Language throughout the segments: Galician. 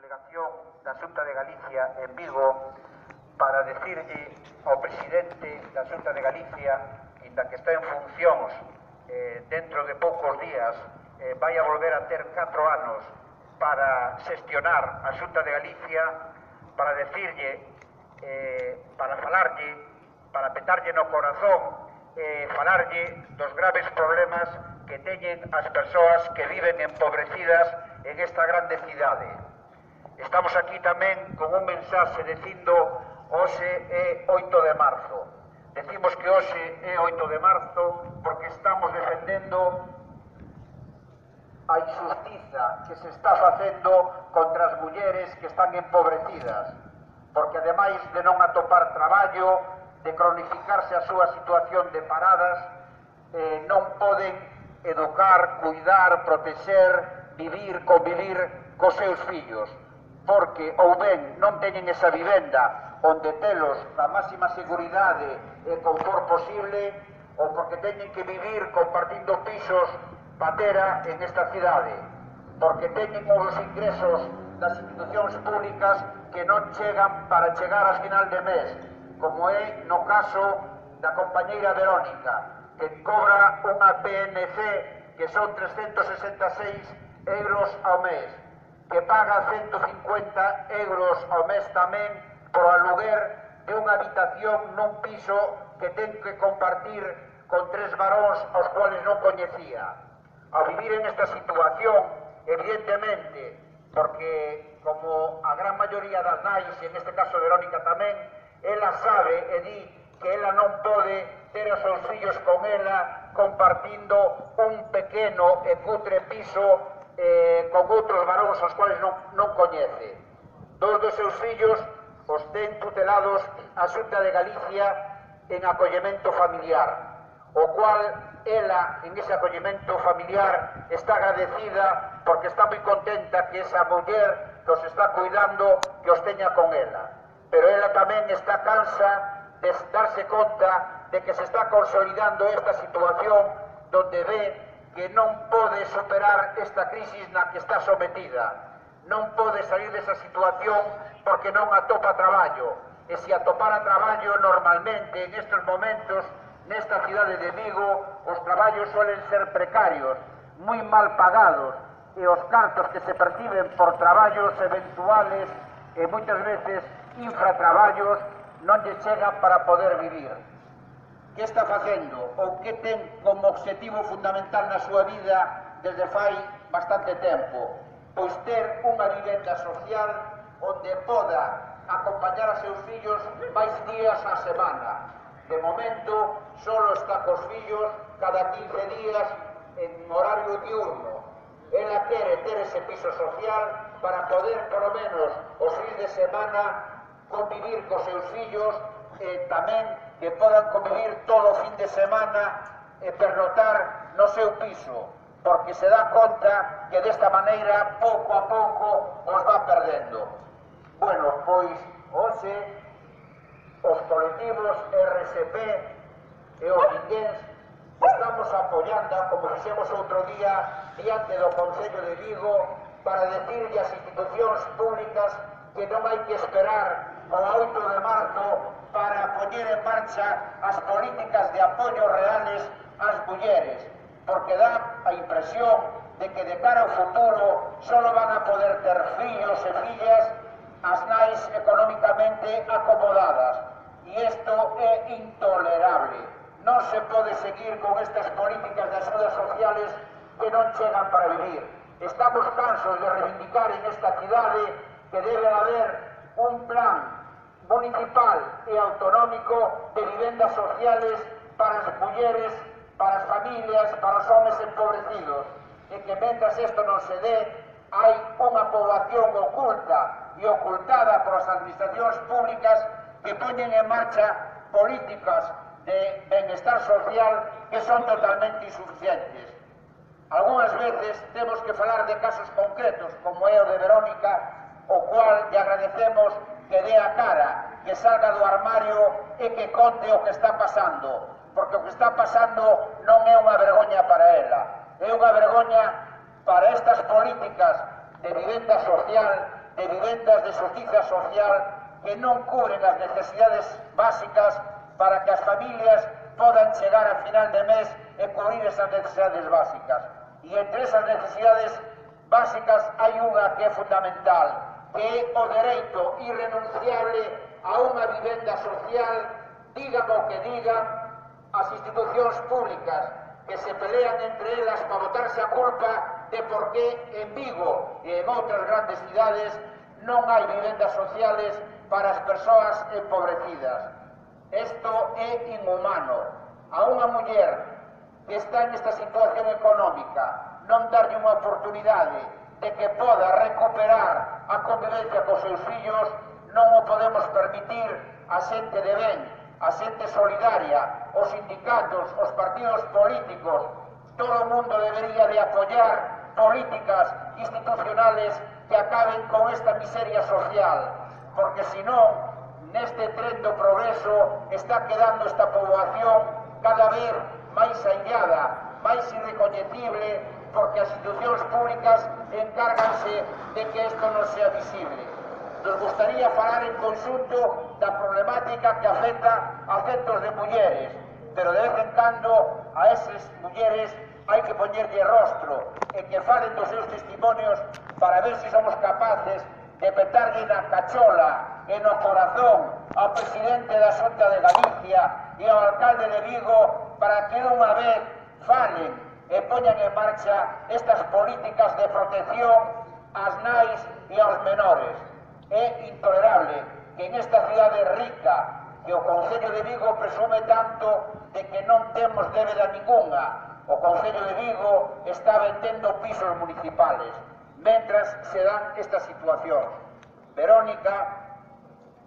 delegación da Xunta de Galicia en Vigo para decirlle ao presidente da Xunta de Galicia, inda que está en funcións dentro de poucos días, vai a volver a ter 4 anos para xestionar a Xunta de Galicia, para decirlle, para falarlle, para petarlle no corazón, falarlle dos graves problemas que teñen as persoas que viven empobrecidas en esta grande cidade. Estamos aquí tamén con un mensaxe dicindo hoxe é 8 de marzo. Decimos que hoxe é 8 de marzo porque estamos defendendo a injustiza que se está facendo contra as mulleres que están empobrecidas, porque ademais de non atopar traballo, de cronificarse a súa situación de paradas, non poden educar, cuidar, protexer, vivir, convivir cos seus fillos, porque ou ben non teñen esa vivenda onde telos na máxima seguridade e confort posible, ou porque teñen que vivir compartindo pisos patera en esta cidade, porque teñen os ingresos das institucións públicas que non chegan para chegar a final de mes, como é no caso da compañeira Verónica, que cobra unha PNC que son 366 euros ao mes, que paga 150 euros ao mes tamén por aluguer de unha habitación nun piso que ten que compartir con 3 varóns aos cuales non coñecía. Ao vivir en esta situación, evidentemente, porque como a gran maioría das nais, e neste caso Verónica tamén, ela sabe e di que ela non pode ter os seus fillos con ela compartindo un pequeno e cutre piso con outros varóns aos cuales non coñece. 2 dos seus fillos os ten tutelados a Xunta de Galicia en acollemento familiar, o cual ela, en ese acollemento familiar, está agradecida porque está moi contenta que esa muller que os está cuidando, que os teña con ela. Pero ela tamén está cansa de darse conta de que se está consolidando esta situación donde ve que non pode superar esta crisis na que está sometida. Non pode salir desa situación porque non atopa traballo. E se atopara traballo normalmente en estes momentos, nesta cidade de Vigo, os traballos suelen ser precarios, moi mal pagados, e os cartos que se perciben por traballos eventuales e moitas veces infratraballos non lle chegan para poder vivir. Que está facendo ou que ten como objetivo fundamental na súa vida desde fai bastante tempo? Pois ter unha vivenda social onde poda acompañar a seus fillos máis días á semana. De momento, solo está cos fillos cada 15 días en horario diurno. Ela quere ter ese piso social para poder, polo menos, os fins de semana convivir cos seus fillos e tamén que podan convivir todo o fin de semana e pernotar no seu piso, porque se dá conta que desta maneira, pouco a pouco, os va perdendo. Bueno, pois, hoxe, os colectivos RSP e os vinguéns estamos apoiando, como fixemos outro día, diante do Concello de Vigo, para decirle ás institucións públicas que non hai que esperar ao 8 de marzo para poñer en marcha as políticas de apoio reales ás mulleres, porque dá a impresión de que de cara ao futuro solo van a poder ter fillos e fillas as nais económicamente acomodadas, e isto é intolerable. Non se pode seguir con estas políticas de axudas sociales que non chegan para vivir. Estamos cansos de reivindicar en esta cidade que debe haber un plan municipal e autonómico de vivendas sociales para as mulleres, para as familias, para os homes empobrecidos, e que mentras isto non se dé, hai unha poboación oculta e ocultada por as administracións públicas que poñen en marcha políticas de benestar social que son totalmente insuficientes. Algúnas veces temos que falar de casos concretos, como é o de Verónica, o cual lle agradecemos que dé a cara, que salga do armario e que conte o que está pasando, porque o que está pasando non é unha vergoña para ela, é unha vergoña para estas políticas de vivenda social, de vivenda vivendas de xustiza social que non cubren as necesidades básicas para que as familias podan chegar a final de mes e cubrir esas necesidades básicas. E entre esas necesidades básicas hai unha que é fundamental, que é o dereito irrenunciable a unha vivenda social, digan o que digan as institucións públicas que se pelean entre elas para botarse a culpa de por que en Vigo e en outras grandes cidades non hai vivendas sociales para as persoas empobrecidas. Isto é inhumano. A unha muller que está nesta situación económica non darlle unha oportunidade de que poda recuperar a convivencia cos seus fillos, non o podemos permitir. A xente de ben, a xente solidaria, os sindicatos, os partidos políticos, todo o mundo debería de apoiar políticas institucionales que acaben con esta miseria social, porque senón, neste tren do progreso está quedando esta poboación cada vez máis aillada, máis irrecoñecible, porque as institucións públicas encárganse de que isto non sea visible. Nos gustaría falar en conxunto da problemática que afecta a centos de mulleres, pero de vez en cando a esas mulleres hai que poñerlle rostro e que falen dos seus testimonios para ver se somos capaces de petarlle na cachola e no corazón ao presidente da Xunta de Galicia e ao alcalde de Vigo para que unha vez falen e poñan en marcha estas políticas de protección ás nais e aos menores. É intolerable que en esta cidade rica, que o Concello de Vigo presume tanto de que non temos débeda ninguna, o Concello de Vigo está vendendo pisos municipales, mentras se dan estas situacións. Verónica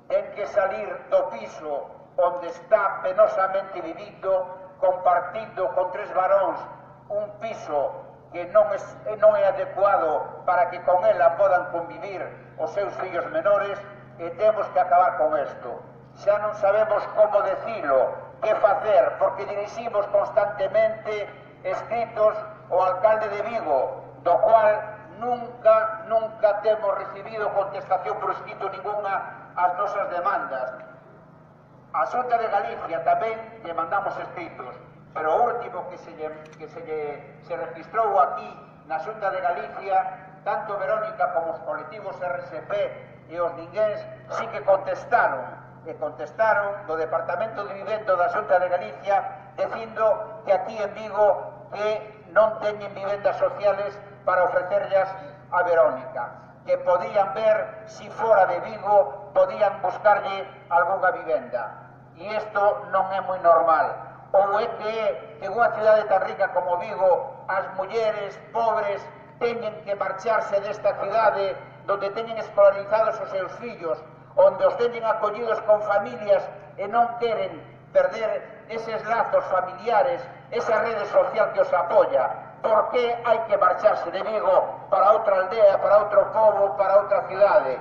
ten que salir do piso onde está penosamente vivindo, compartindo con 3 varóns un piso que non é adecuado para que con ela podan convivir os seus fillos menores, e temos que acabar con isto. Xa non sabemos como decilo, que facer, porque diriximos constantemente escritos ao alcalde de Vigo, do cual nunca temos recibido contestación por escrito ninguna ás nosas demandas. A Xunta de Galicia tamén lle mandamos escritos, pero o último que se registrou aquí na Xunta de Galicia, tanto Verónica como os colectivos RSP e os ninguéns sí que contestaron do Departamento de Vivendo da Xunta de Galicia dicindo que aquí en Vigo que non teñen vivendas sociales para ofrecerlas a Verónica, que podían ver si fora de Vigo podían buscarlle algunha vivenda. E isto non é moi normal. Ou é que en unha cidade tan rica como Vigo as mulleres pobres teñen que marcharse desta cidade donde teñen escolarizados os seus fillos, onde os teñen acollidos con familias e non queren perder eses lazos familiares, esa rede social que os apoia. Por que hai que marcharse de Vigo para outra aldea, para outro pobo, para outra cidade?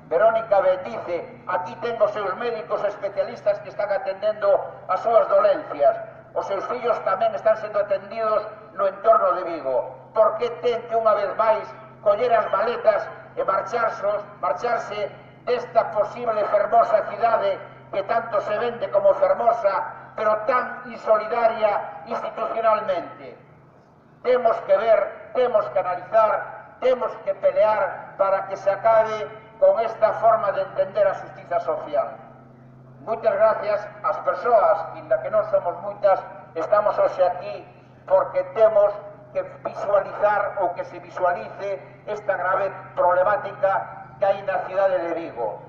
Verónica dice, aquí ten os seus médicos especialistas que están atendendo as súas dolencias. Os seus fillos tamén están sendo atendidos no entorno de Vigo. Por que ten que unha vez máis coller as maletas e marcharse desta posible fermosa cidade que tanto se vende como fermosa, pero tan insolidaria institucionalmente? Temos que ver, temos que analizar, temos que pelear para que se acabe con esta forma de entender a xustiza social. Moitas gracias ás persoas, inda que non somos moitas, estamos hoxe aquí porque temos que visualizar ou que se visualice esta grave problemática que hai na cidade de Vigo.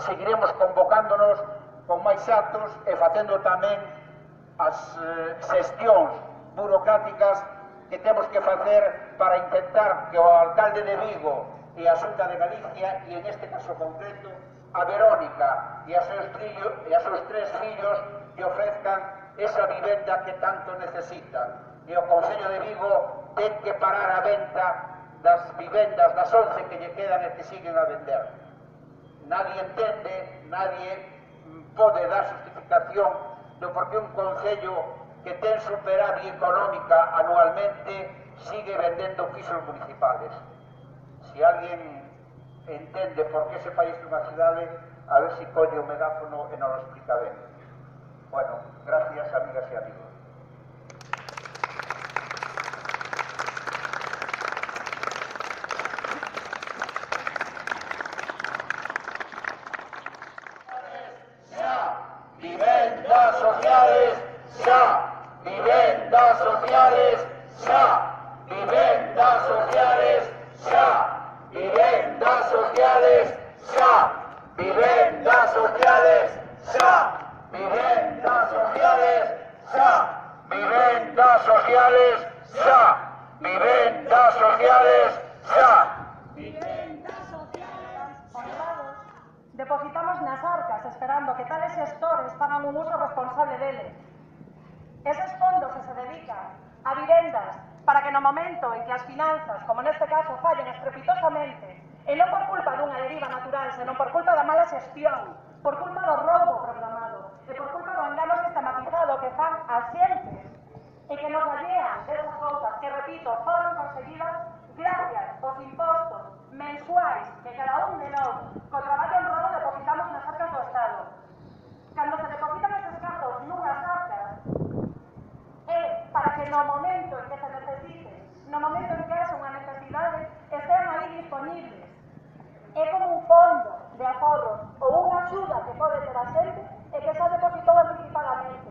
Seguiremos convocándonos con máis actos e facendo tamén as xestións burocráticas que temos que facer para intentar que o alcalde de Vigo e a Xunta de Galicia, e en este caso concreto a Verónica e a seus 3 fillos que ofrezcan esa vivenda que tanto necesitan. E o Concello de Vigo ten que parar a venta das vivendas, das 11 que lle quedan e que siguen a vender. Nadie entende, nadie pode dar justificación do por que un Concello que ten superávit económica anualmente sigue vendendo pisos municipales. Si alguien entende por que se fai isto nunha cidade, a ver se colle o megáfono e non lo explica ben. Bueno, gracias, amigas e amigos. Vivendas sociales, xa. Vivendas sociales, xa. Vivendas sociales, xa. Vivendas sociales, xa. Vivendas sociales, xa. Vivendas sociales, xa. Vivendas sociales, xa. Vivendas sociales, xa. Vivendas sociales, honrados, depositamos nas arcas esperando que tales xestores fagan un uso responsable deles. Eses fondos se dedican a vivendas para que no momento en que as finanzas, como neste caso, fallen estrepitosamente, e non por culpa dunha deriva natural, senón por culpa da mala xestión, por culpa do roubo programado, e por culpa do engano sistematizado que fan as xentes, e que nos allean desas cousas que, repito, foron conseguidas gracias aos impostos mensuais que cada un de nós, co traballo honrado, depositamos nas arcas do Estado. Cando se depositan eses cartos nunhas arcas, é para que no momento en que se necesite, no momento en que haxa unha necesidade, estén aí disponibles. É como un fondo de aforros ou unha axuda que pode ter a xente e que xa depositou anticipadamente.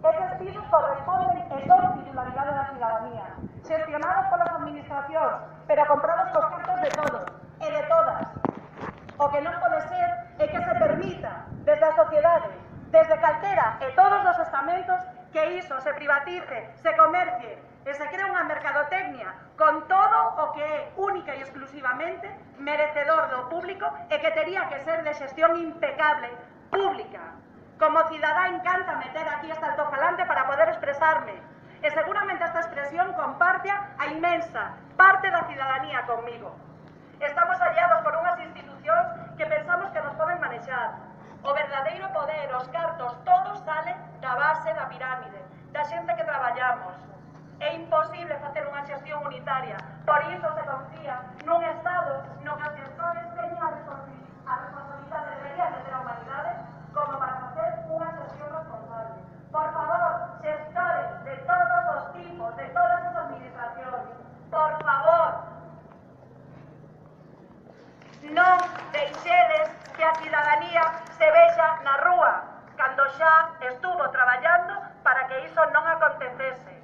Eses pisos corresponden e son titularidade da cidadanía, xestionados polas administracións, pero comprados cos cartos de todos e de todas. O que non pode ser é que se permita, desde a sociedade, desde calquera e todos os estamentos, que iso se privatice, se comercie e se cree unha mercadotecnia con todo o que é única e exclusivamente merecedor do público e que tería que ser de xestión impecable, pública. Como cidadá encanta meter aquí este altofalante para poder expresarme. E seguramente esta expresión comparte a inmensa parte da cidadanía conmigo. Estamos aliados por unhas institucións que pensamos que nos poden manexar. O verdadeiro poder, os cartos, todos salen da base da pirámide, da xente que traballamos. É imposible facer unha xestión unitaria, por iso se confía nun Estado no que os gestores teñen a responsabilidade, deberían de ter a humanidade, como para facer unha xestión responsable. Por favor, xestores de todos os tipos, de todas as administracións, por favor, non deixedes que a cidadanía se vexa na rúa, cando xa estuvo traballando para que iso non acontecese.